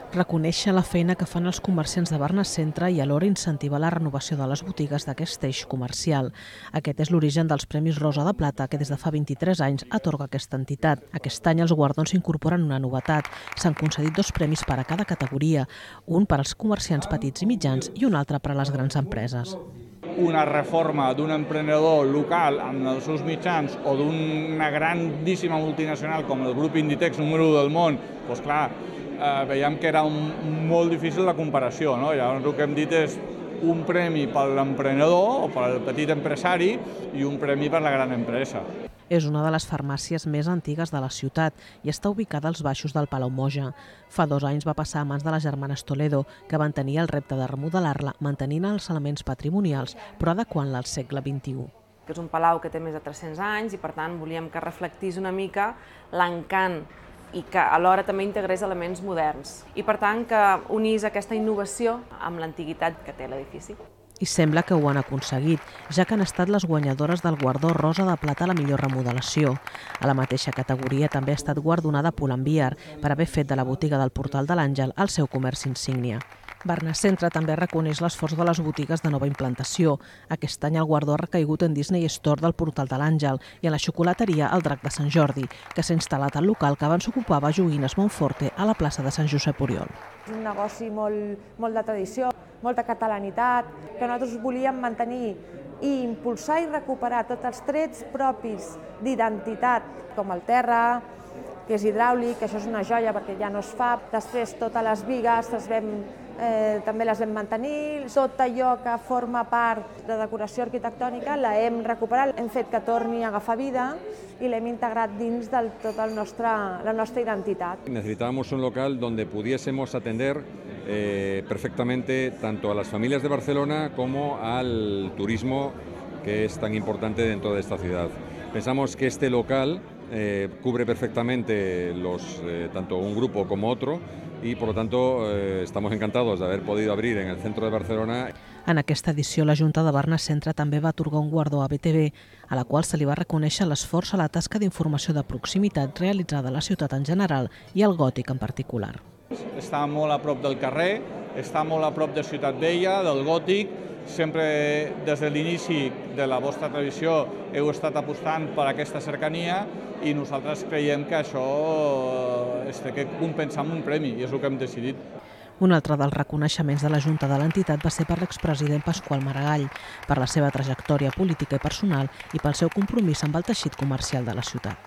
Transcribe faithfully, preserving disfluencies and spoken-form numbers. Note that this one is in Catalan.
Reconèixer la feina que fan els comerciants de Barna Centre i alhora incentivar la renovació de les botigues d'aquest eix comercial. Aquest és l'origen dels Premis Rosa de Plata, que des de fa vint-i-tres anys atorga aquesta entitat. Aquest any els guardons incorporen una novetat. S'han concedit dos premis per a cada categoria, un per als comerciants petits i mitjans i un altre per a les grans empreses. Una reforma d'un emprenedor local amb els seus mitjans o d'una grandíssima multinacional com el grup Inditex número u del món, doncs clar, eh, veiem que era un, molt difícil la comparació, no? Llavors el que hem dit és un premi per l'emprenedor o per al petit empresari i un premi per la gran empresa. És una de les farmàcies més antigues de la ciutat i està ubicada als baixos del Palau Moja. Fa dos anys va passar a mans de les germanes Toledo, que van tenir el repte de remodelar-la mantenint els elements patrimonials, però adequant-la al segle vint-i-u. És un palau que té més de tres-cents anys i, per tant, volíem que reflectís una mica l'encant i que alhora també integrés elements moderns. I, per tant, que unís aquesta innovació amb l'antiguitat que té l'edifici. I sembla que ho han aconseguit, ja que han estat les guanyadores del guardó Rosa de Plata a la millor remodelació. A la mateixa categoria també ha estat guardonada Pull&Bear per haver fet de la botiga del Portal de l'Àngel el seu comerç insígnia. Barna Centre també reconeix l'esforç de les botigues de nova implantació. Aquest any el guardó ha recaigut en Disney Store del Portal de l'Àngel i en la xocolateria El Drac de Sant Jordi, que s'ha instal·lat al local que abans ocupava Joguines Montforte a la plaça de Sant Josep Oriol. És un negoci molt, molt de tradició, molta catalanitat, que nosaltres volíem mantenir i impulsar i recuperar tots els trets propis d'identitat, com el terra, que és hidràulic, que això és una joia perquè ja no es fa. Després totes les bigues les vam, eh, també les vam mantenir. Tot allò que forma part de decoració arquitectònica la hem recuperat, hem fet que torni a agafar vida i l'hem integrat dins de tota el nostre, la nostra identitat. Necesitábamos un local donde pudiésemos atender eh, perfectamente tanto a las familias de Barcelona como al turismo que es tan importante dentro de esta ciudad. Pensamos que este local eh, cubre perfectamente los, eh, tanto un grupo como otro y por lo tanto eh, estamos encantados de haber podido abrir en el centro de Barcelona. En aquesta edició la Junta de Barna Centre també va atorgar un guardó a B T V, a la qual se li va reconèixer l'esforç a la tasca d'informació de proximitat realitzada a la ciutat en general i al Gòtic en particular. Està molt a prop del carrer, està molt a prop de Ciutat Vella, del Gòtic. Sempre des de l'inici de la vostra tradició heu estat apostant per aquesta cercania i nosaltres creiem que això es té que compensar amb un premi i és el que hem decidit. Un altre dels reconeixements de la Junta de l'entitat va ser per l'expresident Pasqual Maragall, per la seva trajectòria política i personal i pel seu compromís amb el teixit comercial de la ciutat.